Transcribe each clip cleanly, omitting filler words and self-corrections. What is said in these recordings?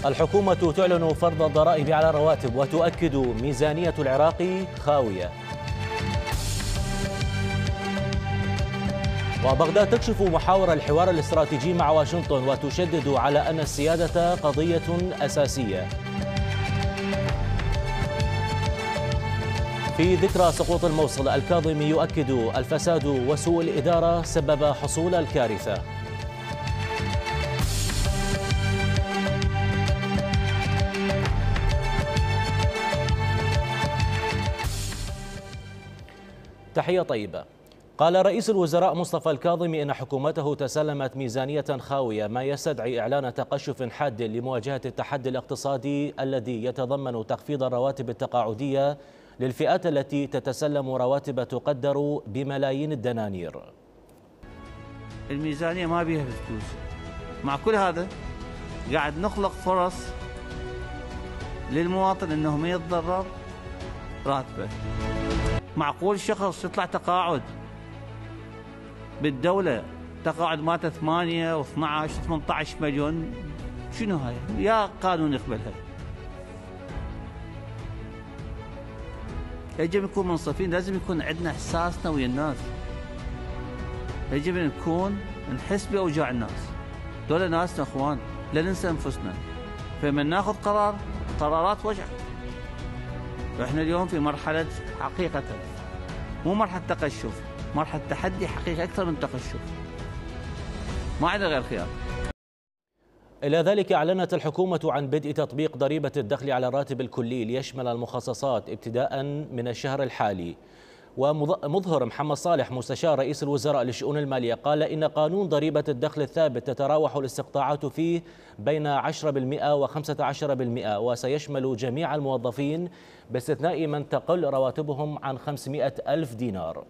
الحكومة تعلن فرض الضرائب على الرواتب وتؤكد ميزانية العراق خاوية. وبغداد تكشف محاور الحوار الاستراتيجي مع واشنطن وتشدد على أن السيادة قضية أساسية. في ذكرى سقوط الموصل الكاظمي يؤكد الفساد وسوء الإدارة سبب حصول الكارثة. تحية طيبة. قال رئيس الوزراء مصطفى الكاظمي إن حكومته تسلمت ميزانية خاوية، ما يستدعي إعلان تقشف حاد لمواجهة التحدي الاقتصادي الذي يتضمن تخفيض الرواتب التقاعدية للفئات التي تتسلم رواتب تقدر بملايين الدنانير. الميزانية ما بيها فلوس، مع كل هذا قاعد نخلق فرص للمواطن انه ما يتضرر راتبه. معقول شخص يطلع تقاعد بالدولة تقاعد مالته 8 و12 و18 مليون؟ شنو هاي؟ يا قانون يقبلها. يجب نكون منصفين، لازم يكون عندنا احساسنا ويا الناس. يجب نكون نحس باوجاع الناس، دول ناسنا اخوان، لا ننسى انفسنا. فمن ناخذ قرارات وجع. احنا اليوم في مرحلة حقيقة مو مرحلة تقشف، مرحلة تحدي حقيقي أكثر من تقشف. ما عندنا غير خيار. إلى ذلك أعلنت الحكومة عن بدء تطبيق ضريبة الدخل على الراتب الكلي ليشمل المخصصات ابتداء من الشهر الحالي. ومظهر محمد صالح مستشار رئيس الوزراء للشؤون المالية قال إن قانون ضريبة الدخل الثابت تتراوح الاستقطاعات فيه بين 10% و15%، وسيشمل جميع الموظفين باستثناء من تقل رواتبهم عن 500 ألف دينار.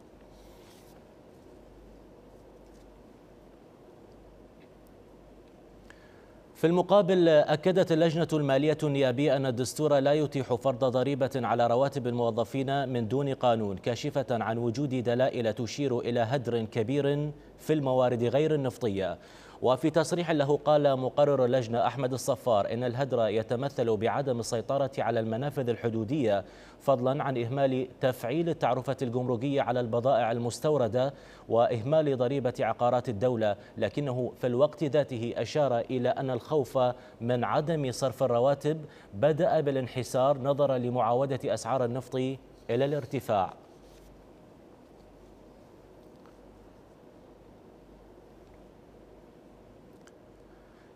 في المقابل أكدت اللجنة المالية النيابية أن الدستور لا يتيح فرض ضريبة على رواتب الموظفين من دون قانون، كاشفة عن وجود دلائل تشير إلى هدر كبير في الموارد غير النفطية. وفي تصريح له قال مقرر اللجنة أحمد الصفار إن الهدر يتمثل بعدم السيطرة على المنافذ الحدودية، فضلا عن إهمال تفعيل التعرفة الجمركية على البضائع المستوردة وإهمال ضريبة عقارات الدولة، لكنه في الوقت ذاته أشار إلى أن الخوف من عدم صرف الرواتب بدأ بالانحسار نظرا لمعاودة أسعار النفط إلى الارتفاع.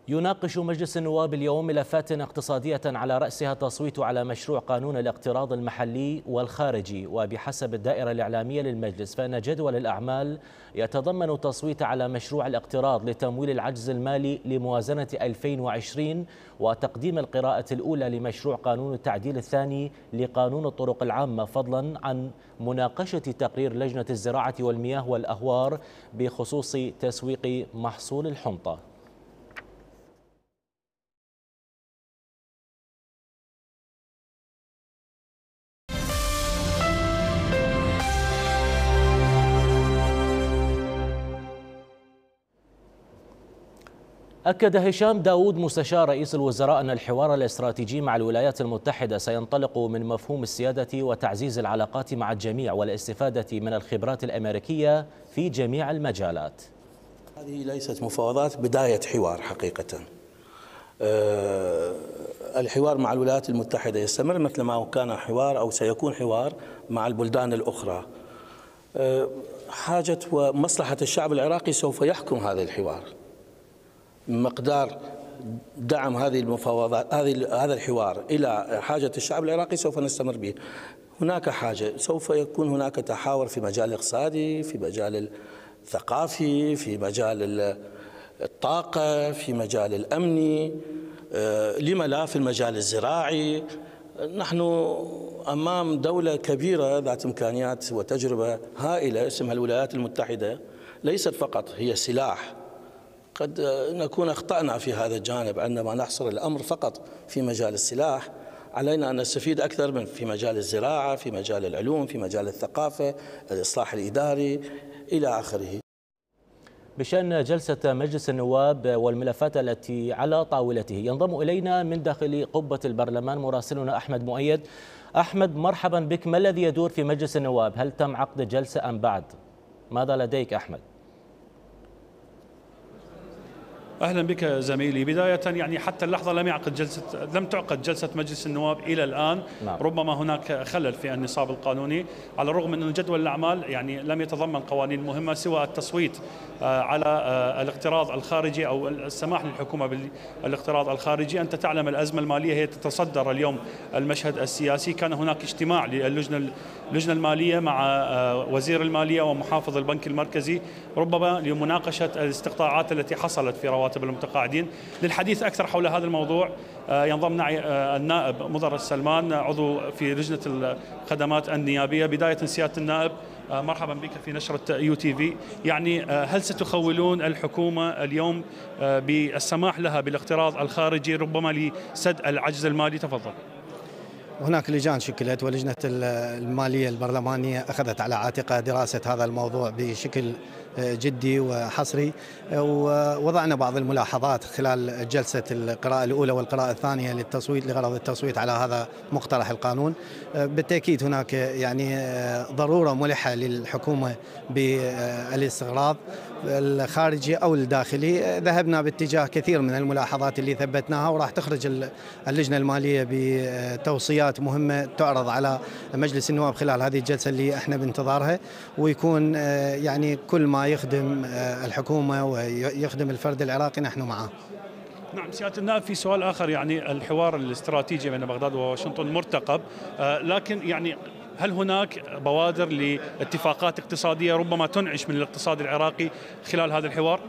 يناقش مجلس النواب اليوم ملفات اقتصادية على رأسها التصويت على مشروع قانون الاقتراض المحلي والخارجي. وبحسب الدائرة الإعلامية للمجلس فإن جدول الأعمال يتضمن التصويت على مشروع الاقتراض لتمويل العجز المالي لموازنة 2020 وتقديم القراءة الأولى لمشروع قانون التعديل الثاني لقانون الطرق العامة، فضلا عن مناقشة تقرير لجنة الزراعة والمياه والأهوار بخصوص تسويق محصول الحنطة. أكد هشام داود مستشار رئيس الوزراء أن الحوار الاستراتيجي مع الولايات المتحدة سينطلق من مفهوم السيادة وتعزيز العلاقات مع الجميع والاستفادة من الخبرات الأمريكية في جميع المجالات. هذه ليست مفاوضات، بداية حوار حقيقة. الحوار مع الولايات المتحدة يستمر مثل ما كان حوار أو سيكون حوار مع البلدان الأخرى. حاجة ومصلحة الشعب العراقي سوف يحكم هذا الحوار. مقدار دعم هذه المفاوضات هذا الحوار إلى حاجة الشعب العراقي سوف نستمر به. هناك حاجة، سوف يكون هناك تحاور في مجال الاقتصادي، في مجال الثقافي، في مجال الطاقة، في مجال الأمني، لم لا في المجال الزراعي. نحن أمام دولة كبيرة ذات إمكانيات وتجربة هائلة اسمها الولايات المتحدة، ليست فقط هي سلاح. قد نكون أخطأنا في هذا الجانب عندما نحصر الأمر فقط في مجال السلاح. علينا أن نستفيد أكثر من في مجال الزراعة، في مجال العلوم، في مجال الثقافة، الإصلاح الإداري إلى آخره. بشأن جلسة مجلس النواب والملفات التي على طاولته. ينضم إلينا من داخل قبة البرلمان مراسلنا أحمد مؤيد. أحمد، مرحبا بك. ما الذي يدور في مجلس النواب؟ هل تم عقد جلسة أم بعد؟ ماذا لديك أحمد؟ اهلا بك زميلي. بدايه يعني حتى اللحظه لم تعقد جلسه مجلس النواب الى الان. نعم. ربما هناك خلل في النصاب القانوني، على الرغم من ان جدول الاعمال يعني لم يتضمن قوانين مهمه سوى التصويت على الاقتراض الخارجي او السماح للحكومه بالاقتراض الخارجي. انت تعلم الازمه الماليه هي تتصدر اليوم المشهد السياسي. كان هناك اجتماع للجنه الماليه مع وزير الماليه ومحافظ البنك المركزي، ربما لمناقشه الاستقطاعات التي حصلت في رواتب المتقاعدين. للحديث اكثر حول هذا الموضوع ينضم معي النائب مضر السلمان، عضو في لجنه الخدمات النيابيه. بدايه سياده النائب، مرحبا بك في نشرة UTV. يعني هل ستخولون الحكومة اليوم بالسماح لها بالاقتراض الخارجي ربما لسد العجز المالي؟ تفضل. هناك لجان شكلت، ولجنة المالية البرلمانية أخذت على عاتقها دراسة هذا الموضوع بشكل جدي وحصري، ووضعنا بعض الملاحظات خلال جلسة القراءة الأولى والقراءة الثانية للتصويت لغرض التصويت على هذا مقترح القانون. بالتأكيد هناك يعني ضرورة ملحة للحكومة بالاستقراض الخارجي أو الداخلي. ذهبنا باتجاه كثير من الملاحظات اللي ثبتناها، وراح تخرج اللجنة المالية بتوصيات مهمة تعرض على مجلس النواب خلال هذه الجلسة اللي احنا بانتظارها، ويكون يعني كل ما يخدم الحكومة ويخدم الفرد العراقي نحن معه. نعم سيادة النائب، في سؤال آخر. يعني الحوار الاستراتيجي بين بغداد وواشنطن مرتقب، لكن يعني هل هناك بوادر لاتفاقات اقتصادية ربما تنعش من الاقتصاد العراقي خلال هذا الحوار؟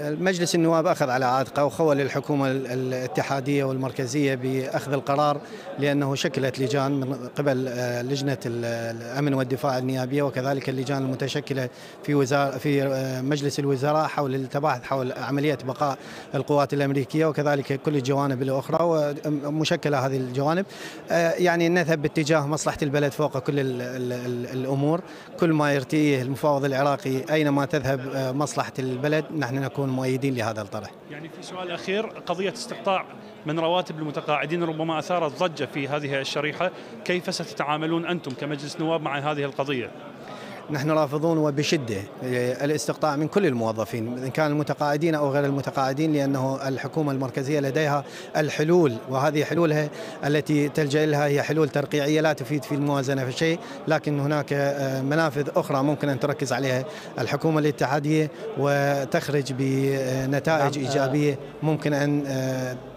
مجلس النواب أخذ على عاتقه وخول الحكومة الاتحادية والمركزية بأخذ القرار، لأنه شكلت لجان من قبل لجنة الأمن والدفاع النيابية، وكذلك اللجان المتشكلة في مجلس الوزراء حول التباحث حول عملية بقاء القوات الأمريكية، وكذلك كل الجوانب الأخرى ومشكلة هذه الجوانب. يعني نذهب باتجاه مصلحة البلد فوق كل الأمور. كل ما يرتئيه المفاوض العراقي أينما تذهب مصلحة البلد نحن نكون مؤيدين لهذا الطرح. يعني في سؤال أخير، قضية استقطاع من رواتب المتقاعدين ربما أثارت ضجة في هذه الشريحة، كيف ستتعاملون أنتم كمجلس نواب مع هذه القضية؟ نحن رافضون وبشدة الاستقطاع من كل الموظفين إن كان المتقاعدين أو غير المتقاعدين، لأنه الحكومة المركزية لديها الحلول، وهذه حلولها التي تلجأ لها هي حلول ترقيعية لا تفيد في الموازنة في شيء، لكن هناك منافذ أخرى ممكن أن تركز عليها الحكومة الاتحادية وتخرج بنتائج إيجابية ممكن أن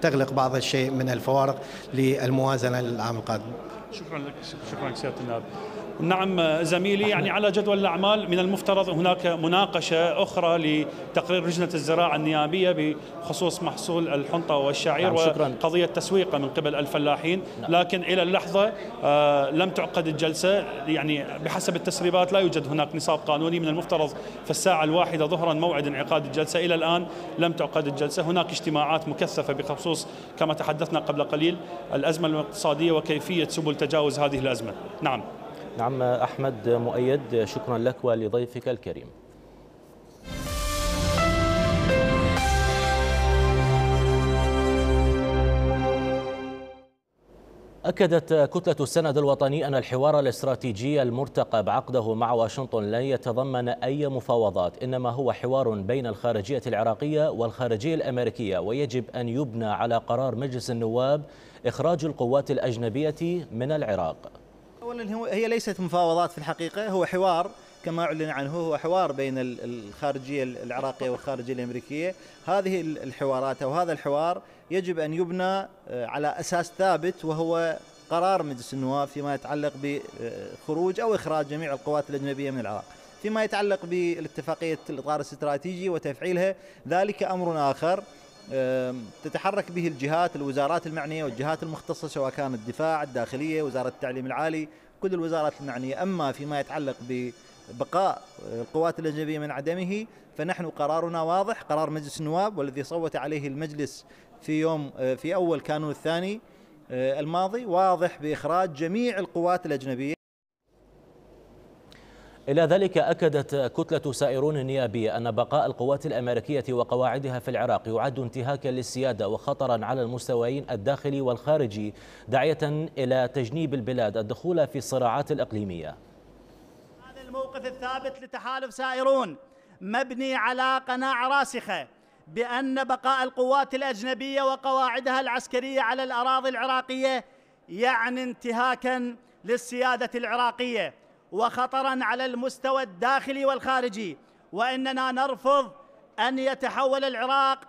تغلق بعض الشيء من الفوارق للموازنة للعام القادم. شكرا لك. شكرا سيادة النائب. نعم زميلي، يعني على جدول الأعمال من المفترض هناك مناقشة أخرى لتقرير لجنة الزراعة النيابية بخصوص محصول الحنطة والشعير وقضية تسويقه من قبل الفلاحين، لكن إلى اللحظة لم تعقد الجلسة. يعني بحسب التسريبات لا يوجد هناك نصاب قانوني، من المفترض في الساعة 1 ظهرا موعد انعقاد الجلسة، إلى الآن لم تعقد الجلسة. هناك اجتماعات مكثفة بخصوص كما تحدثنا قبل قليل الأزمة الاقتصادية وكيفية سبل تجاوز هذه الأزمة. نعم أحمد مؤيد، شكرا لك ولضيفك الكريم. أكدت كتلة السند الوطني أن الحوار الاستراتيجي المرتقب عقده مع واشنطن لن يتضمن أي مفاوضات، إنما هو حوار بين الخارجية العراقية والخارجية الأمريكية، ويجب أن يبنى على قرار مجلس النواب إخراج القوات الأجنبية من العراق. أولا هي ليست مفاوضات في الحقيقة، هو حوار كما أعلن عنه، هو حوار بين الخارجية العراقية والخارجية الأمريكية. هذه الحوارات أو هذا الحوار يجب أن يبنى على أساس ثابت، وهو قرار مجلس النواب فيما يتعلق بخروج أو إخراج جميع القوات الأجنبية من العراق. فيما يتعلق بالاتفاقية الإطار الاستراتيجي وتفعيلها ذلك أمر آخر تتحرك به الجهات الوزارات المعنية والجهات المختصة، سواء كانت الدفاع، الداخلية، وزارة التعليم العالي، كل الوزارات المعنية. أما فيما يتعلق ببقاء القوات الأجنبية من عدمه فنحن قرارنا واضح، قرار مجلس النواب والذي صوت عليه المجلس في أول كانون الثاني الماضي، واضح بإخراج جميع القوات الأجنبية. إلى ذلك أكدت كتلة سائرون النيابية أن بقاء القوات الأمريكية وقواعدها في العراق يعد انتهاكا للسيادة وخطرا على المستويين الداخلي والخارجي، داعية إلى تجنيب البلاد الدخول في الصراعات الإقليمية. هذا الموقف الثابت لتحالف سائرون مبني على قناعة راسخة بأن بقاء القوات الأجنبية وقواعدها العسكرية على الأراضي العراقية يعني انتهاكا للسيادة العراقية وخطرا على المستوى الداخلي والخارجي، وإننا نرفض أن يتحول العراق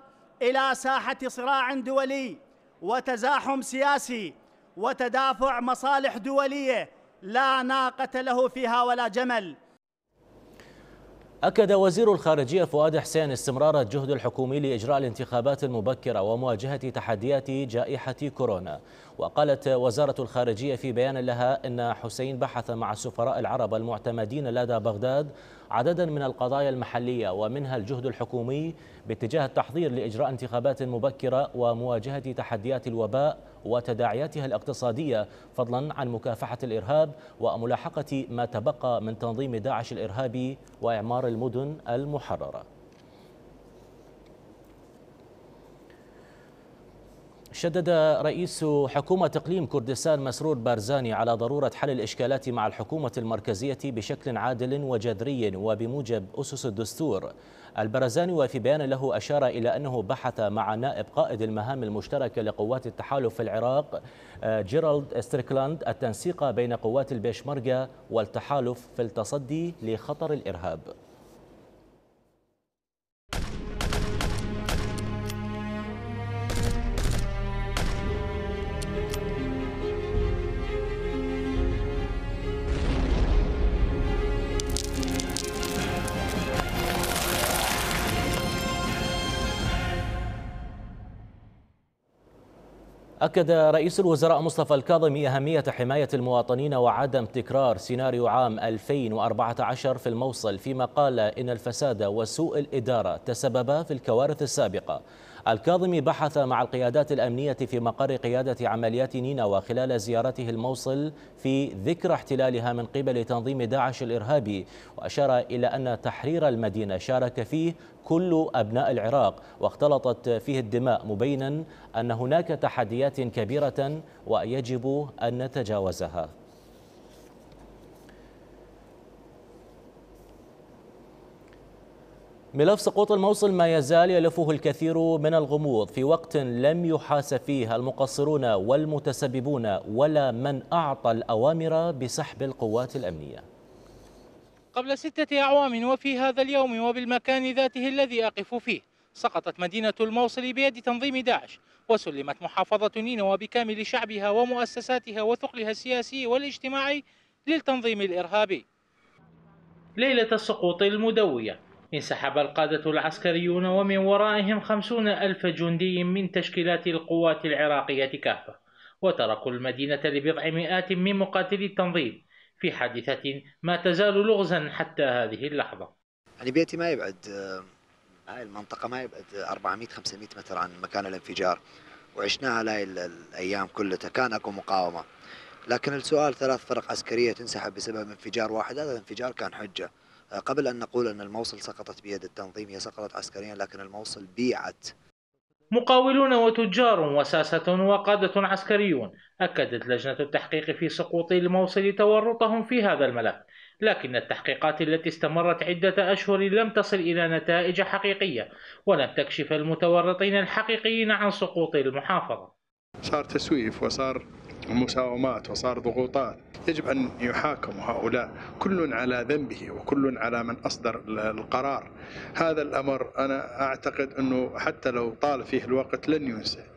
إلى ساحة صراع دولي وتزاحم سياسي وتدافع مصالح دولية لا ناقة له فيها ولا جمل. أكد وزير الخارجية فؤاد حسين استمرار الجهد الحكومي لإجراء الانتخابات المبكرة ومواجهة تحديات جائحة كورونا. وقالت وزارة الخارجية في بيان لها إن حسين بحث مع السفراء العرب المعتمدين لدى بغداد عددا من القضايا المحلية ومنها الجهد الحكومي باتجاه التحضير لإجراء انتخابات مبكرة ومواجهة تحديات الوباء وتداعياتها الاقتصادية، فضلا عن مكافحة الإرهاب وملاحقة ما تبقى من تنظيم داعش الإرهابي وإعمار المدن المحررة. شدد رئيس حكومة إقليم كردستان مسرور بارزاني على ضرورة حل الإشكالات مع الحكومة المركزية بشكل عادل وجذري وبموجب أسس الدستور. البرزاني وفي بيان له أشار إلى أنه بحث مع نائب قائد المهام المشتركة لقوات التحالف في العراق جيرالد ستريكلاند التنسيق بين قوات البيشمركة والتحالف في التصدي لخطر الإرهاب. أكد رئيس الوزراء مصطفى الكاظمي أهمية حماية المواطنين وعدم تكرار سيناريو عام 2014 في الموصل، فيما قال إن الفساد وسوء الإدارة تسببا في الكوارث السابقة. الكاظمي بحث مع القيادات الأمنية في مقر قيادة عمليات نينوى خلال زيارته الموصل في ذكرى احتلالها من قبل تنظيم داعش الإرهابي، وأشار إلى أن تحرير المدينة شارك فيه كل أبناء العراق واختلطت فيه الدماء، مبينا أن هناك تحديات كبيرة ويجب أن نتجاوزها. ملف سقوط الموصل ما يزال يلفه الكثير من الغموض في وقت لم يحاسب فيه المقصرون والمتسببون ولا من أعطى الأوامر بسحب القوات الأمنية. قبل 6 أعوام وفي هذا اليوم وبالمكان ذاته الذي أقف فيه سقطت مدينة الموصل بيد تنظيم داعش، وسلمت محافظة نينوى بكامل شعبها ومؤسساتها وثقلها السياسي والاجتماعي للتنظيم الإرهابي. ليلة السقوط المدوية انسحب القادة العسكريون ومن ورائهم 50,000 جندي من تشكيلات القوات العراقية كافة، وتركوا المدينة لبضع مئات من مقاتلي التنظيم في حادثة ما تزال لغزا حتى هذه اللحظة. يعني بيتي ما يبعد، هاي المنطقة ما يبعد 400-500 متر عن مكان الانفجار، وعشناها هاي الأيام كلها. كان أكو مقاومة، لكن السؤال 3 فرق عسكرية تنسحب بسبب انفجار واحد، هذا الانفجار كان حجة. قبل أن نقول أن الموصل سقطت بيد التنظيم، هي سقطت عسكريا، لكن الموصل بيعت. مقاولون وتجار وساسة وقادة عسكريون أكدت لجنة التحقيق في سقوط الموصل تورطهم في هذا الملف، لكن التحقيقات التي استمرت عدة أشهر لم تصل إلى نتائج حقيقية ولم تكشف المتورطين الحقيقيين عن سقوط المحافظة. صار تسويف وصار مساومات وصار ضغوطات، يجب أن يحاكموا هؤلاء كل على ذنبه وكل على من أصدر القرار. هذا الأمر أنا أعتقد أنه حتى لو طال فيه الوقت لن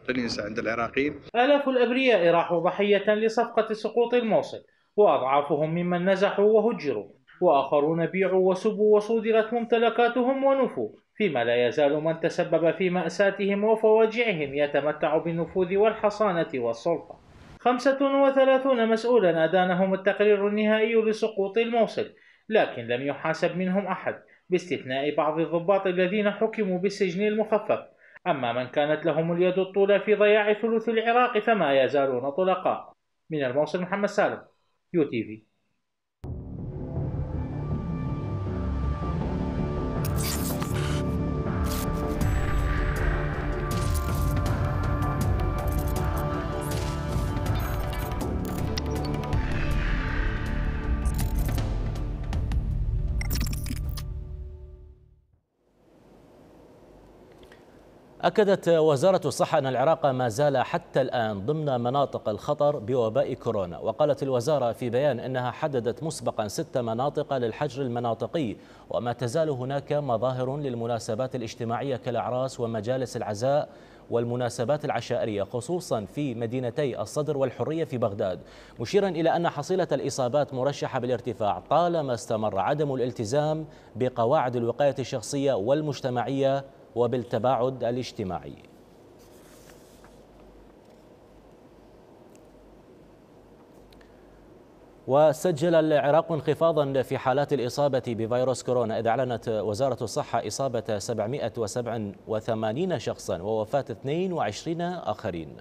ينسى عند العراقيين. آلاف الأبرياء راحوا ضحية لصفقة سقوط الموصل، وأضعافهم ممن نزحوا وهجروا، وآخرون بيعوا وسبوا وصودرت ممتلكاتهم ونفوا، فيما لا يزال من تسبب في مأساتهم وفواجعهم يتمتع بالنفوذ والحصانة والسلطة. 35 مسؤولا أدانهم التقرير النهائي لسقوط الموصل، لكن لم يحاسب منهم أحد باستثناء بعض الضباط الذين حكموا بالسجن المخفف. أما من كانت لهم اليد الطولى في ضياع ثلث العراق فما يزالون طلقاء. من الموصل محمد سالم، UTV. أكدت وزارة الصحة أن العراق ما زال حتى الآن ضمن مناطق الخطر بوباء كورونا. وقالت الوزارة في بيان أنها حددت مسبقا 6 مناطق للحجر المناطقي، وما تزال هناك مظاهر للمناسبات الاجتماعية كالأعراس ومجالس العزاء والمناسبات العشائرية، خصوصا في مدينتي الصدر والحرية في بغداد، مشيرا إلى أن حصيلة الإصابات مرشحة بالارتفاع طالما استمر عدم الالتزام بقواعد الوقاية الشخصية والمجتمعية وبالتباعد الاجتماعي. وسجل العراق انخفاضا في حالات الإصابة بفيروس كورونا، إذ أعلنت وزارة الصحة إصابة 787 شخصا ووفاة 22 آخرين.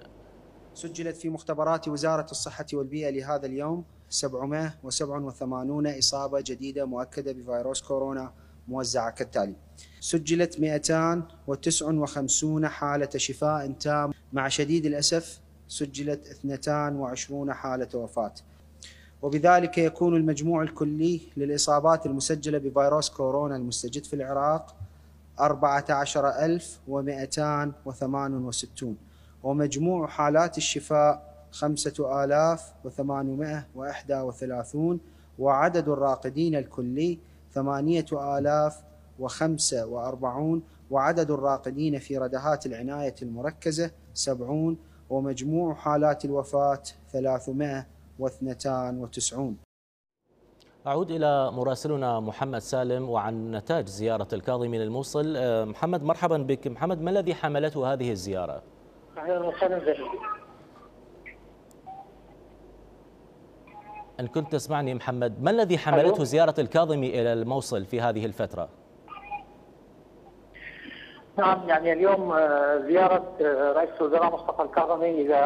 سجلت في مختبرات وزارة الصحة والبيئة لهذا اليوم 787 إصابة جديدة مؤكدة بفيروس كورونا موزعة كالتالي: سجلت 259 حالة شفاء تام، مع شديد الأسف سجلت 22 حالة وفاة، وبذلك يكون المجموع الكلي للإصابات المسجلة بفيروس كورونا المستجد في العراق 14268، ومجموع حالات الشفاء 5831، وعدد الراقدين الكلي 8045، وعدد الراقدين في ردهات العناية المركزة 70، ومجموع حالات الوفاة 392. أعود إلى مراسلنا محمد سالم وعن نتاج زيارة الكاظمي للموصل. محمد، مرحبا بك. محمد، ما الذي حملته هذه الزيارة؟ أهلا وسهلا بك. إن كنت تسمعني محمد، ما الذي حملته زيارة الكاظمي إلى الموصل في هذه الفترة؟ نعم، يعني اليوم زيارة رئيس الوزراء مصطفى الكاظمي إلى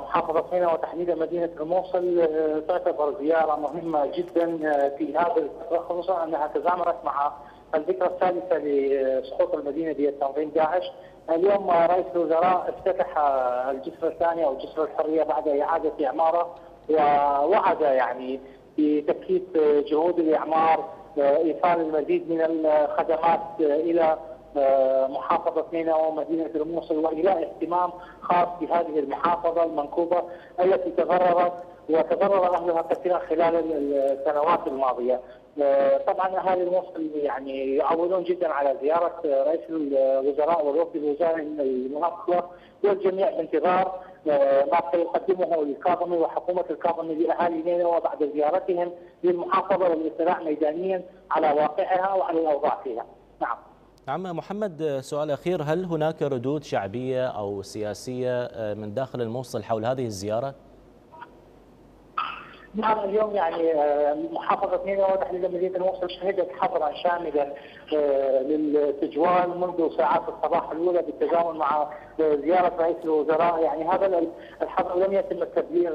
محافظة ميناء وتحديدا مدينة الموصل تعتبر زيارة مهمة جدا في هذه الفترة، خصوصا أنها تزامنت مع الذكرى الثالثة لسقوط المدينة بتنظيم داعش. اليوم رئيس الوزراء افتتح الجسر الثاني أو جسر الحرية بعد إعادة إعماره، ووعد يعني بتكثيف جهود الإعمار، إيصال المزيد من الخدمات إلى محافظة ميناء ومدينة الموصل، وإلى اهتمام خاص بهذه المحافظة المنكوبة التي وتضرر أهلها كثيرا خلال السنوات الماضية. طبعا أهالي الموصل يعني يعولون جدا على زيارة رئيس الوزراء والوفد الوزاري المناقضة، والجميع بانتظار ما سيقدمه الكاظمي وحكومة الكاظمي لأهالي ميناء وبعد زيارتهم للمحافظة والاطلاع ميدانيا على واقعها وعلى الأوضاع فيها. نعم. نعم محمد، سؤال أخير، هل هناك ردود شعبية أو سياسية من داخل الموصل حول هذه الزيارة؟ نعم، اليوم يعني محافظة ميناء وتحديدا مدينة الموصل شهدت حظرا شاملا للتجوال منذ ساعات الصباح الأولى بالتزامن مع زيارة رئيس الوزراء. يعني هذا الحظر لم يتم التبليغ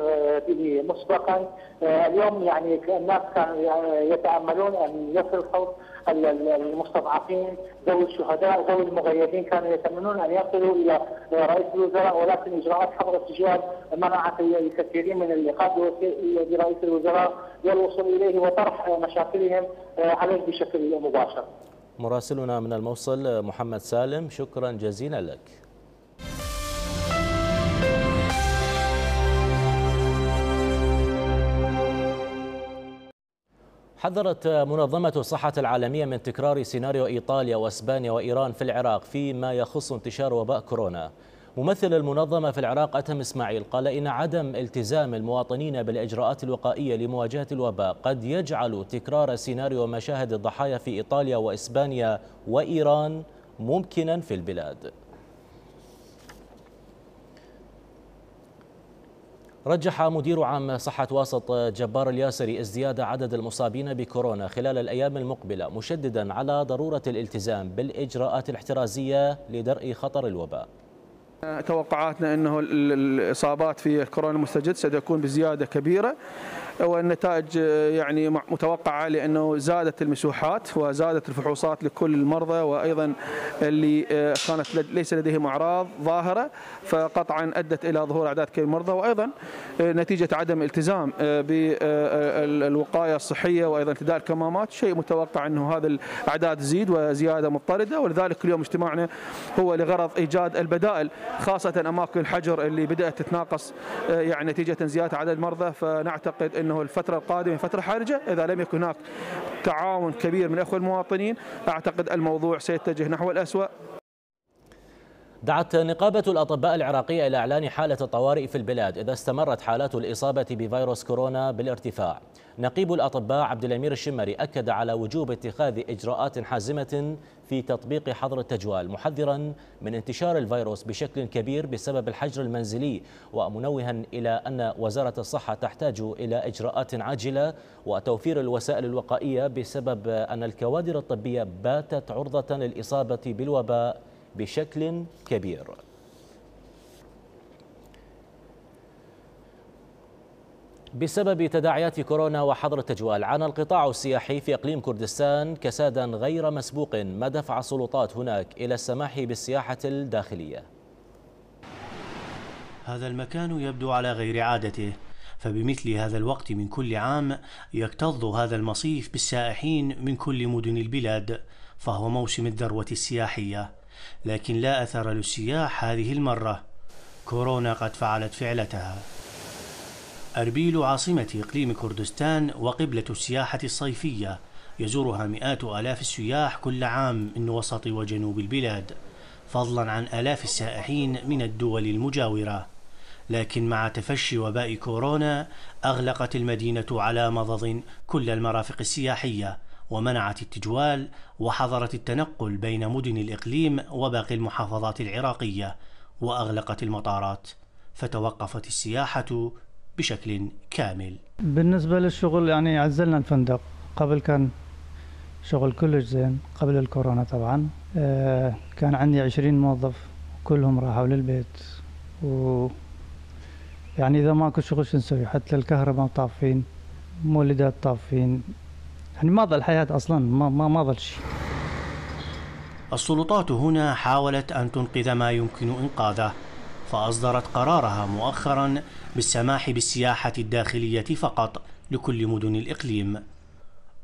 به مسبقا. اليوم يعني الناس كانوا يتأملون أن يصل صوت المستضعفين، ذوي الشهداء، ذوي المغيبين، كانوا يتمنون أن يصلوا إلى رئيس الوزراء، ولكن إجراءات حظر التجوال منعت الكثيرين من اللقاء برئيس الوزراء والوصول إليه وطرح مشاكلهم عليه بشكل مباشر. مراسلنا من الموصل محمد سالم، شكرا جزيلا لك. حذرت منظمة الصحة العالمية من تكرار سيناريو إيطاليا وإسبانيا وإيران في العراق فيما يخص انتشار وباء كورونا. ممثل المنظمة في العراق أتم إسماعيل قال إن عدم التزام المواطنين بالإجراءات الوقائية لمواجهة الوباء قد يجعل تكرار سيناريو مشاهد الضحايا في إيطاليا وإسبانيا وإيران ممكنا في البلاد. رجح مدير عام صحة واسط جبار الياسري ازدياد عدد المصابين بكورونا خلال الأيام المقبلة، مشددا على ضرورة الالتزام بالإجراءات الاحترازية لدرء خطر الوباء. توقعاتنا أنه الإصابات في كورونا المستجد ستكون بزيادة كبيرة، والنتائج يعني متوقعة، لأنه زادت المسوحات وزادت الفحوصات لكل المرضى، وأيضا اللي كانت ليس لديهم أعراض ظاهرة فقطعا أدت إلى ظهور أعداد كبيرة من المرضى، وأيضا نتيجة عدم الالتزام بالوقاية الصحية وأيضا ارتداء الكمامات، شيء متوقع أنه هذا الأعداد تزيد وزيادة مضطردة. ولذلك اليوم اجتماعنا هو لغرض إيجاد البدائل، خاصة أماكن الحجر اللي بدأت تتناقص يعني نتيجة زيادة عدد المرضى. فنعتقد أنه الفترة القادمة فترة حرجة، إذا لم يكن هناك تعاون كبير من الأخوة المواطنين أعتقد الموضوع سيتجه نحو الأسوأ. دعت نقابة الأطباء العراقية إلى إعلان حالة الطوارئ في البلاد إذا استمرت حالات الإصابة بفيروس كورونا بالارتفاع. نقيب الأطباء عبد الأمير الشمري أكد على وجوب اتخاذ إجراءات حازمة في تطبيق حظر التجوال، محذرا من انتشار الفيروس بشكل كبير بسبب الحجر المنزلي، ومنوها إلى أن وزارة الصحة تحتاج إلى إجراءات عاجلة وتوفير الوسائل الوقائية بسبب أن الكوادر الطبية باتت عرضة للإصابة بالوباء بشكل كبير. بسبب تداعيات كورونا وحظر التجوال، عانى القطاع السياحي في إقليم كردستان كسادا غير مسبوق، ما دفع السلطات هناك إلى السماح بالسياحة الداخلية. هذا المكان يبدو على غير عادته، فبمثل هذا الوقت من كل عام يكتظ هذا المصيف بالسائحين من كل مدن البلاد، فهو موسم الذروة السياحية، لكن لا أثر للسياح هذه المرة. كورونا قد فعلت فعلتها. أربيل عاصمة إقليم كردستان وقبلة السياحة الصيفية يزورها مئات آلاف السياح كل عام من وسط وجنوب البلاد، فضلا عن آلاف السائحين من الدول المجاورة. لكن مع تفشي وباء كورونا أغلقت المدينة على مضض كل المرافق السياحية، ومنعت التجوال وحظرت التنقل بين مدن الإقليم وباقي المحافظات العراقية، وأغلقت المطارات، فتوقفت السياحة بشكل كامل. بالنسبة للشغل يعني عزلنا الفندق، قبل كان شغل كلش زين قبل الكورونا طبعا. كان عندي 20 موظف كلهم راحوا للبيت، يعني إذا ماكو شغل شو نسوي؟ حتى الكهرباء طافين، مولدات طافين، يعني ما ظل حياة أصلا، ما ظل شيء. السلطات هنا حاولت أن تنقذ ما يمكن إنقاذه، فأصدرت قرارها مؤخرا بالسماح بالسياحة الداخلية فقط لكل مدن الإقليم،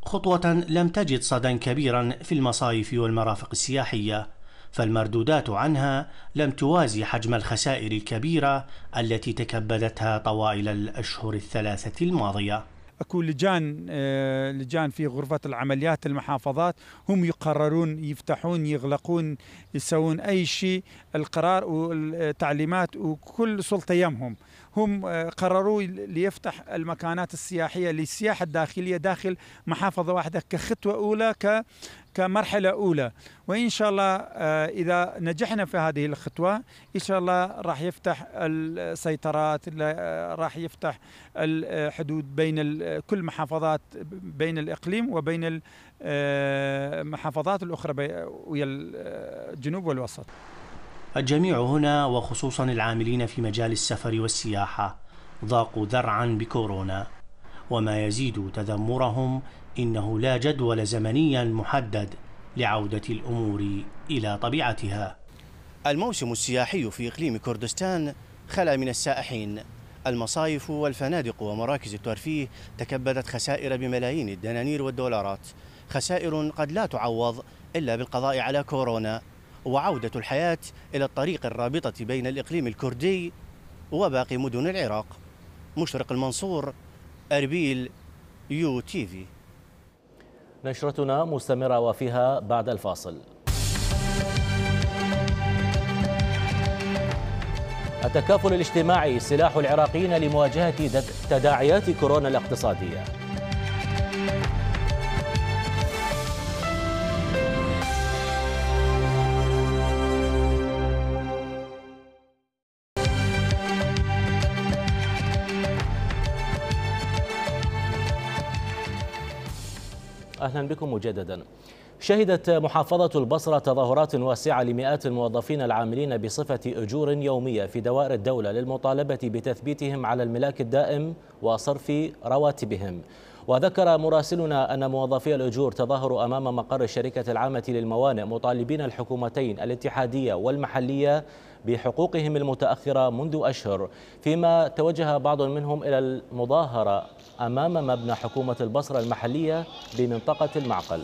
خطوة لم تجد صدى كبيرا في المصايف والمرافق السياحية، فالمردودات عنها لم توازي حجم الخسائر الكبيرة التي تكبدتها طوائل الأشهر الثلاثة الماضية. اكو لجان في غرفة العمليات المحافظات، هم يقررون يفتحون يغلقون يسوون اي شيء، القرار والتعليمات وكل سلطة يمهم. هم قرروا ليفتح المكانات السياحية للسياحة الداخلية داخل محافظة واحدة كخطوة أولى، كمرحلة أولى، وإن شاء الله إذا نجحنا في هذه الخطوة إن شاء الله راح يفتح السيطرات، راح يفتح الحدود بين كل محافظات بين الإقليم وبين المحافظات الأخرى ويا الجنوب والوسط. الجميع هنا وخصوصا العاملين في مجال السفر والسياحة ضاقوا ذرعا بكورونا، وما يزيد تذمرهم إنه لا جدول زمنيا محدد لعودة الأمور إلى طبيعتها. الموسم السياحي في إقليم كردستان خلا من السائحين. المصايف والفنادق ومراكز الترفيه تكبدت خسائر بملايين الدنانير والدولارات، خسائر قد لا تعوض إلا بالقضاء على كورونا وعودة الحياة إلى الطريق الرابطة بين الإقليم الكردي وباقي مدن العراق. مشرق المنصور، أربيل، UTV. نشرتنا مستمرة وفيها بعد الفاصل. التكافل الاجتماعي سلاح العراقيين لمواجهة تداعيات كورونا الاقتصادية. أهلا بكم مجددا. شهدت محافظة البصرة تظاهرات واسعة لمئات الموظفين العاملين بصفة أجور يومية في دوائر الدولة للمطالبة بتثبيتهم على الملاك الدائم وصرف رواتبهم. وذكر مراسلنا أن موظفي الأجور تظاهروا أمام مقر الشركة العامة للموانئ مطالبين الحكومتين الاتحادية والمحلية بحقوقهم المتأخرة منذ أشهر، فيما توجه بعض منهم إلى المظاهرة أمام مبنى حكومة البصرة المحلية بمنطقة المعقل.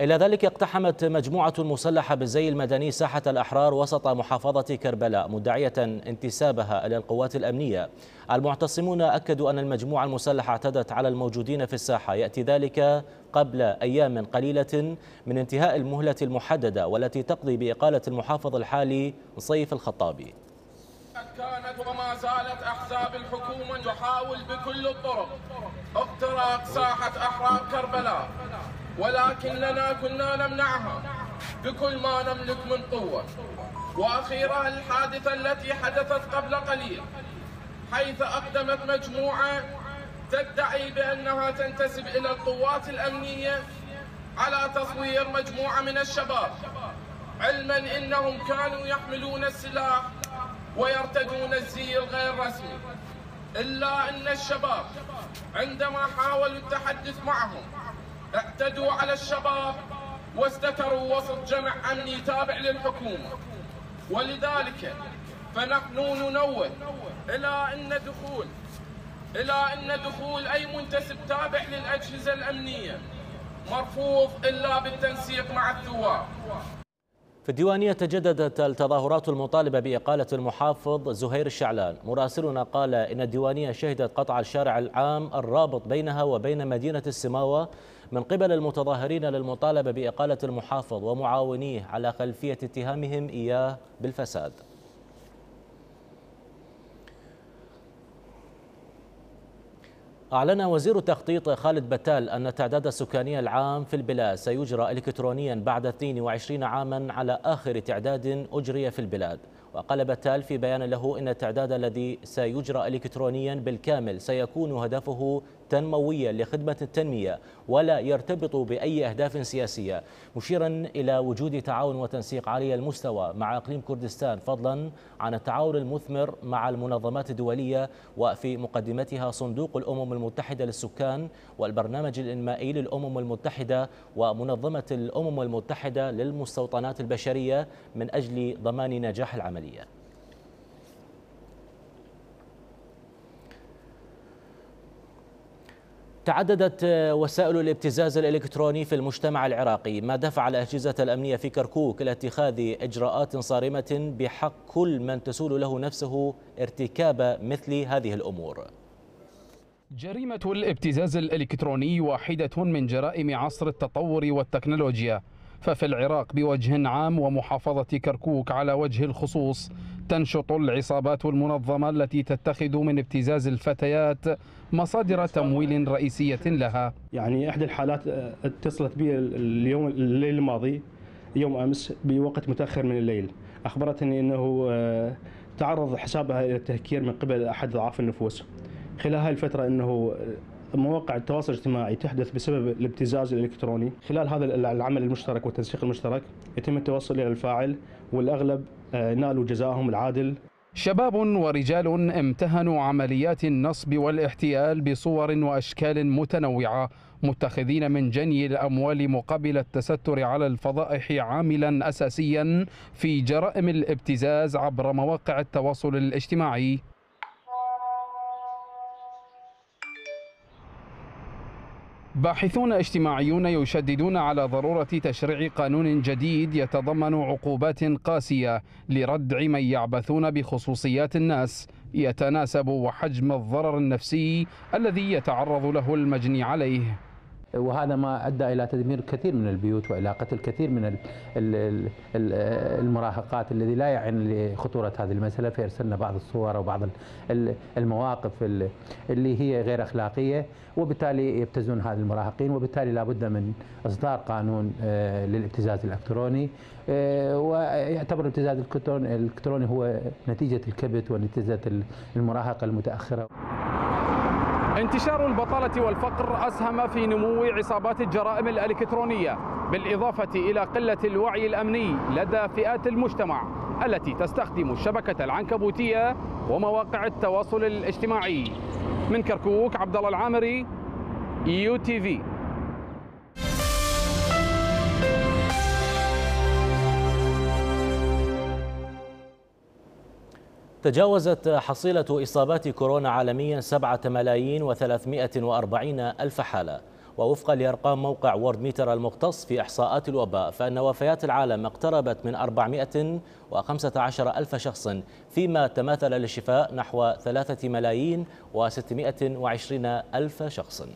إلى ذلك اقتحمت مجموعة مسلحة بالزي المدني ساحة الأحرار وسط محافظة كربلاء مدعية انتسابها إلى القوات الأمنية. المعتصمون أكدوا أن المجموعة المسلحة اعتدت على الموجودين في الساحة، يأتي ذلك قبل أيام قليلة من انتهاء المهلة المحددة والتي تقضي بإقالة المحافظ الحالي صيف الخطابي. كانت وما زالت أحزاب الحكومة تحاول بكل الطرق اختراق ساحة أحرار كربلاء، ولكننا كنا نمنعها بكل ما نملك من قوة. وأخيرا الحادثة التي حدثت قبل قليل، حيث أقدمت مجموعة تدعي بأنها تنتسب إلى القوات الأمنية على تصوير مجموعة من الشباب، علما إنهم كانوا يحملون السلاح ويرتدون الزي الغير رسمي. إلا أن الشباب عندما حاولوا التحدث معهم اعتدوا على الشباب واستتروا وسط جمع أمني تابع للحكومة. ولذلك فنحن ننوه إلى أن دخول أي منتسب تابع للأجهزة الأمنية مرفوض إلا بالتنسيق مع الثوار. في الديوانية تجددت التظاهرات المطالبة بإقالة المحافظ زهير الشعلان. مراسلنا قال إن الديوانية شهدت قطع الشارع العام الرابط بينها وبين مدينة السماوة من قبل المتظاهرين للمطالبة بإقالة المحافظ ومعاونيه على خلفية اتهامهم إياه بالفساد. أعلن وزير التخطيط خالد بتال أن التعداد السكاني العام في البلاد سيجرى إلكترونيا بعد 22 عاما على آخر تعداد أجري في البلاد. وقال بتال في بيان له إن التعداد الذي سيجرى إلكترونيا بالكامل سيكون هدفه تنمويا لخدمة التنمية ولا يرتبط بأي أهداف سياسية، مشيرا إلى وجود تعاون وتنسيق عالي المستوى مع إقليم كردستان فضلا عن التعاون المثمر مع المنظمات الدولية وفي مقدمتها صندوق الأمم المتحدة للسكان والبرنامج الإنمائي للأمم المتحدة ومنظمة الأمم المتحدة للمستوطنات البشرية من أجل ضمان نجاح العملية. تعددت وسائل الابتزاز الإلكتروني في المجتمع العراقي، ما دفع الأجهزة الأمنية في كركوك إلى اتخاذ إجراءات صارمة بحق كل من تسول له نفسه ارتكاب مثل هذه الأمور. جريمة الابتزاز الإلكتروني واحدة من جرائم عصر التطور والتكنولوجيا، ففي العراق بوجه عام ومحافظة كركوك على وجه الخصوص تنشط العصابات المنظمة التي تتخذ من ابتزاز الفتيات مصادر تمويل رئيسية لها. يعني إحدى الحالات اتصلت بي الليل الماضي يوم أمس بوقت متأخر من الليل، أخبرتني أنه تعرض حسابها إلى التهكير من قبل أحد ضعاف النفوس. خلال هذه الفترة أنه مواقع التواصل الاجتماعي تحدث بسبب الابتزاز الإلكتروني. خلال هذا العمل المشترك والتنسيق المشترك يتم التوصل إلى الفاعل والأغلب نالوا جزاءهم العادل. شباب ورجال امتهنوا عمليات النصب والاحتيال بصور وأشكال متنوعة، متخذين من جني الأموال مقابل التستر على الفضائح عاملا أساسيا في جرائم الابتزاز عبر مواقع التواصل الاجتماعي. باحثون اجتماعيون يشددون على ضرورة تشريع قانون جديد يتضمن عقوبات قاسية لردع من يعبثون بخصوصيات الناس يتناسب وحجم الضرر النفسي الذي يتعرض له المجني عليه. وهذا ما أدى إلى تدمير الكثير من البيوت وإلى قتل الكثير من المراهقات الذي لا يعن لخطورة هذه المسألة. فأرسلنا بعض الصور وبعض المواقف اللي هي غير أخلاقية، وبالتالي يبتزون هذه المراهقين، وبالتالي لابد من إصدار قانون للابتزاز الإلكتروني. ويعتبر الابتزاز الإلكتروني هو نتيجة الكبت ونتيجة المراهقة المتأخرة. انتشار البطالة والفقر أسهم في نمو عصابات الجرائم الإلكترونية، بالإضافة إلى قلة الوعي الأمني لدى فئات المجتمع التي تستخدم الشبكة العنكبوتية ومواقع التواصل الاجتماعي. من كركوك، عبد الله العامري، UTV. تجاوزت حصيلة إصابات كورونا عالميا 7,340,000 حالة، ووفقا لأرقام موقع وورد ميتر المختص في إحصاءات الوباء فإن وفيات العالم اقتربت من 415,000 شخص، فيما تماثل للشفاء نحو 3,620,000 شخص.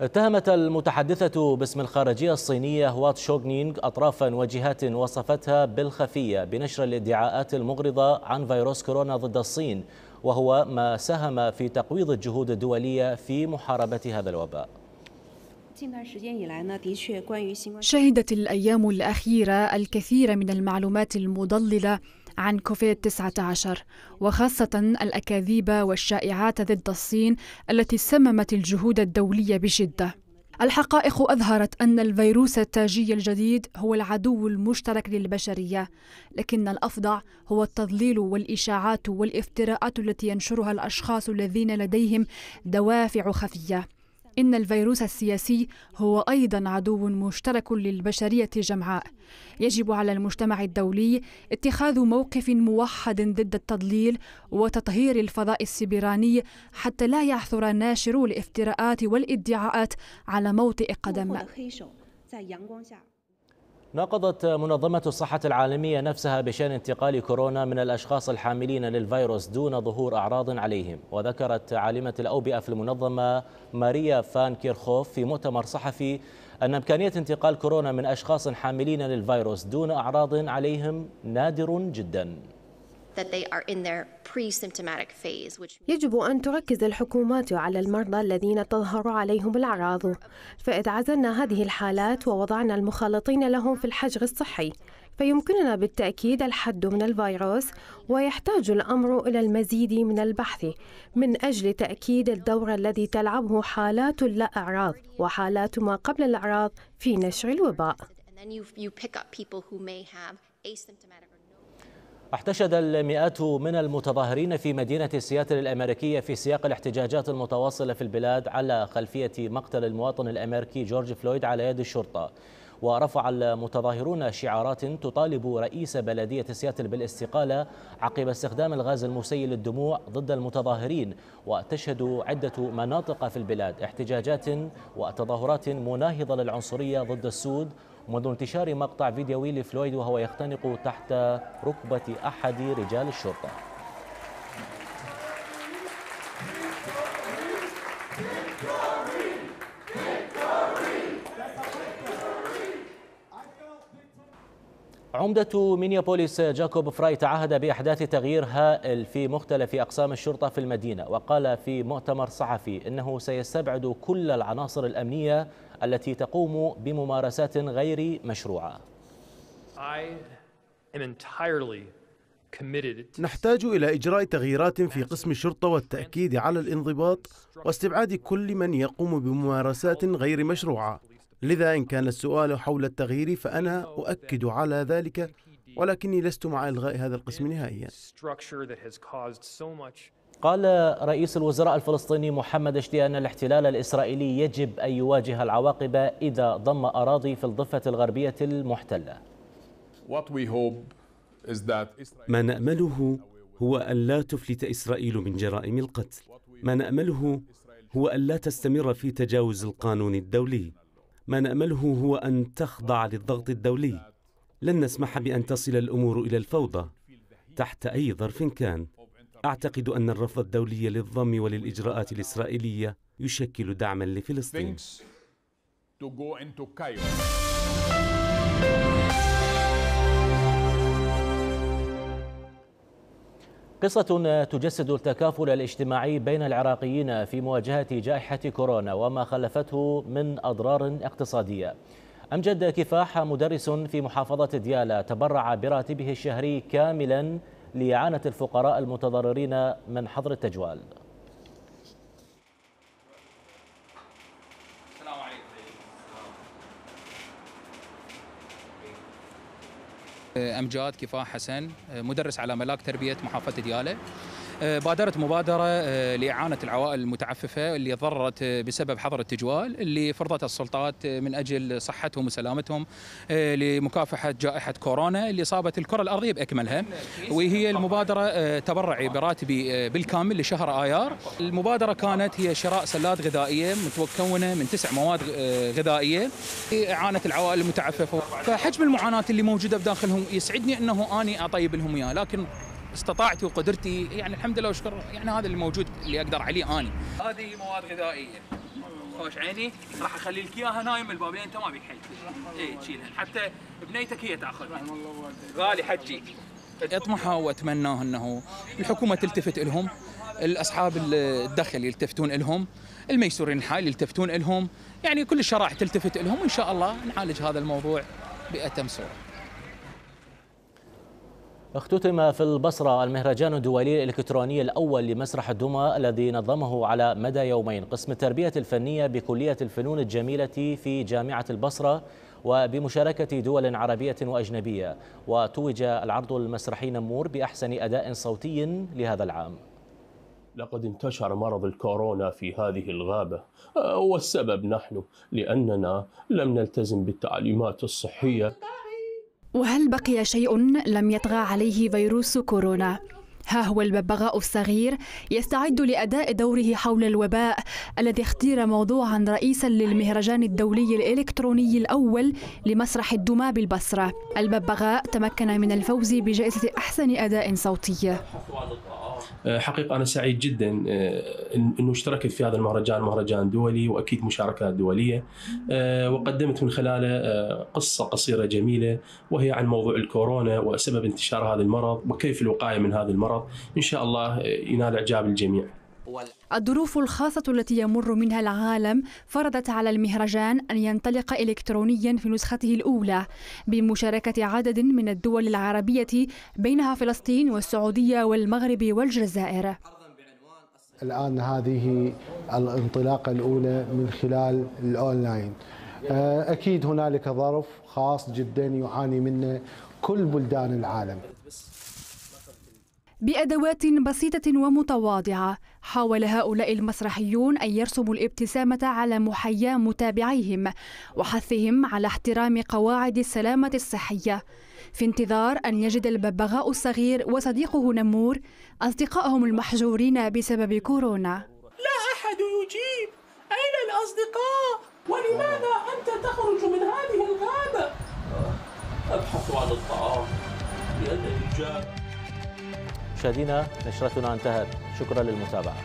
اتهمت المتحدثة باسم الخارجية الصينية هوا تشونغ أطرافا وجهات وصفتها بالخفية بنشر الادعاءات المغرضة عن فيروس كورونا ضد الصين، وهو ما ساهم في تقويض الجهود الدولية في محاربة هذا الوباء. شهدت الأيام الأخيرة الكثير من المعلومات المضللة عن كوفيد-19، وخاصة الأكاذيب والشائعات ضد الصين التي سممت الجهود الدولية بشدة. الحقائق أظهرت أن الفيروس التاجي الجديد هو العدو المشترك للبشرية، لكن الأفظع هو التضليل والإشاعات والافتراءات التي ينشرها الأشخاص الذين لديهم دوافع خفية. إن الفيروس السياسي هو أيضا عدو مشترك للبشرية جمعاء. يجب على المجتمع الدولي اتخاذ موقف موحد ضد التضليل وتطهير الفضاء السيبراني حتى لا يعثر ناشرو الافتراءات والادعاءات على موطئ قدم. ناقضت منظمة الصحة العالمية نفسها بشأن انتقال كورونا من الأشخاص الحاملين للفيروس دون ظهور أعراض عليهم. وذكرت عالمة الأوبئة في المنظمة ماريا فان كيرخوف في مؤتمر صحفي أن إمكانية انتقال كورونا من أشخاص حاملين للفيروس دون أعراض عليهم نادر جدا. يجب أن تركز الحكومات على المرضى الذين تظهر عليهم الأعراض، فإذا عزلنا هذه الحالات ووضعنا المخالطين لهم في الحجر الصحي فيمكننا بالتأكيد الحد من الفيروس، ويحتاج الأمر إلى المزيد من البحث من أجل تأكيد الدور الذي تلعبه حالات لا أعراض وحالات ما قبل الأعراض في نشر الوباء. احتشد المئات من المتظاهرين في مدينة سياتل الأمريكية في سياق الاحتجاجات المتواصلة في البلاد على خلفية مقتل المواطن الأمريكي جورج فلويد على يد الشرطة. ورفع المتظاهرون شعارات تطالب رئيس بلدية سياتل بالاستقالة عقب استخدام الغاز المسيل للدموع ضد المتظاهرين. وتشهد عدة مناطق في البلاد احتجاجات وتظاهرات مناهضة للعنصرية ضد السود منذ انتشار مقطع فيديوي لفلويد وهو يختنق تحت ركبة أحد رجال الشرطة. عمدة مينيابوليس جاكوب فراي تعهد بإحداث تغيير هائل في مختلف أقسام الشرطة في المدينة، وقال في مؤتمر صحفي إنه سيستبعد كل العناصر الأمنية التي تقوم بممارسات غير مشروعة. نحتاج إلى إجراء تغييرات في قسم الشرطة والتأكيد على الانضباط واستبعاد كل من يقوم بممارسات غير مشروعة. لذا إن كان السؤال حول التغيير فأنا أؤكد على ذلك، ولكني لست مع إلغاء هذا القسم نهائيا. قال رئيس الوزراء الفلسطيني محمد اشتي أن الاحتلال الإسرائيلي يجب أن يواجه العواقب إذا ضم أراضي في الضفة الغربية المحتلة. ما نأمله هو أن لا تفلت إسرائيل من جرائم القتل. ما نأمله هو أن لا تستمر في تجاوز القانون الدولي. ما نأمله هو أن تخضع للضغط الدولي. لن نسمح بأن تصل الأمور إلى الفوضى تحت أي ظرف كان. أعتقد أن الرفض الدولي للضم وللإجراءات الإسرائيلية يشكل دعما لفلسطين. قصة تجسد التكافل الاجتماعي بين العراقيين في مواجهة جائحة كورونا وما خلفته من أضرار اقتصادية. أمجد كفاح مدرس في محافظة ديالى تبرع براتبه الشهري كاملا لإعانة الفقراء المتضررين من حظر التجوال. أمجاد كفاح حسن، مدرس على ملاك تربية محافظة ديالى. بادرت مبادرة لإعانة العوائل المتعففة اللي ضررت بسبب حظر التجوال اللي فرضتها السلطات من أجل صحتهم وسلامتهم لمكافحة جائحة كورونا اللي صابت الكرة الأرضية بأكملها. وهي المبادرة تبرعي براتبي بالكامل لشهر آيار. المبادرة كانت هي شراء سلات غذائية متكونة من 9 مواد غذائية لإعانة العوائل المتعففة. فحجم المعاناة اللي موجودة بداخلهم يسعدني أنه أني أطيب لهم إياه، لكن استطاعتي وقدرتي يعني الحمد لله وشكر يعني هذا اللي موجود اللي اقدر عليه اني. هذه مواد غذائيه خوش عيني، راح اخلي لك اياها نايم الباب لين انت ما بيك حيل. اي تشيلها حتى بنيتك هي تاخذها. غالي حجي. اطمح واتمناه انه الحكومه تلتفت لهم، الاصحاب الدخل يلتفتون لهم، الميسورين الحال يلتفتون لهم، يعني كل الشرائح تلتفت لهم، وان شاء الله نعالج هذا الموضوع بأتم صوره. اختتم في البصرة المهرجان الدولي الإلكتروني الأول لمسرح الدمى الذي نظمه على مدى يومين قسم التربية الفنية بكلية الفنون الجميلة في جامعة البصرة وبمشاركة دول عربية وأجنبية، وتوج العرض المسرحي نمور بأحسن أداء صوتي لهذا العام. لقد انتشر مرض الكورونا في هذه الغابة، والسبب نحن لأننا لم نلتزم بالتعليمات الصحية. وهل بقي شيء لم يطغى عليه فيروس كورونا؟ ها هو الببغاء الصغير يستعد لأداء دوره حول الوباء الذي اختير موضوعا رئيسا للمهرجان الدولي الإلكتروني الأول لمسرح الدمى بالبصرة. الببغاء تمكن من الفوز بجائزة أحسن أداء صوتي. حقيقة أنا سعيد جدا أنه اشتركت في هذا المهرجان، مهرجان دولي وأكيد مشاركات دولية، وقدمت من خلاله قصة قصيرة جميلة وهي عن موضوع الكورونا وسبب انتشار هذا المرض وكيف الوقاية من هذا المرض. إن شاء الله ينال إعجاب الجميع. الظروف الخاصة التي يمر منها العالم فرضت على المهرجان أن ينطلق إلكترونيا في نسخته الأولى بمشاركة عدد من الدول العربية بينها فلسطين والسعودية والمغرب والجزائر. الآن هذه الانطلاقة الأولى من خلال الأونلاين. أكيد هنالك ظرف خاص جدا يعاني منه كل بلدان العالم. بأدوات بسيطة ومتواضعة حاول هؤلاء المسرحيون أن يرسموا الابتسامة على محيا متابعيهم وحثهم على احترام قواعد السلامة الصحية في انتظار أن يجد الببغاء الصغير وصديقه نمور أصدقائهم المحجورين بسبب كورونا. لا أحد يجيب، أين الأصدقاء؟ ولماذا أنت تخرج من هذه الغابة؟ أبحث عن الطعام لأن الرجال. مشاهدينا نشرتنا انتهت، شكرا للمتابعة.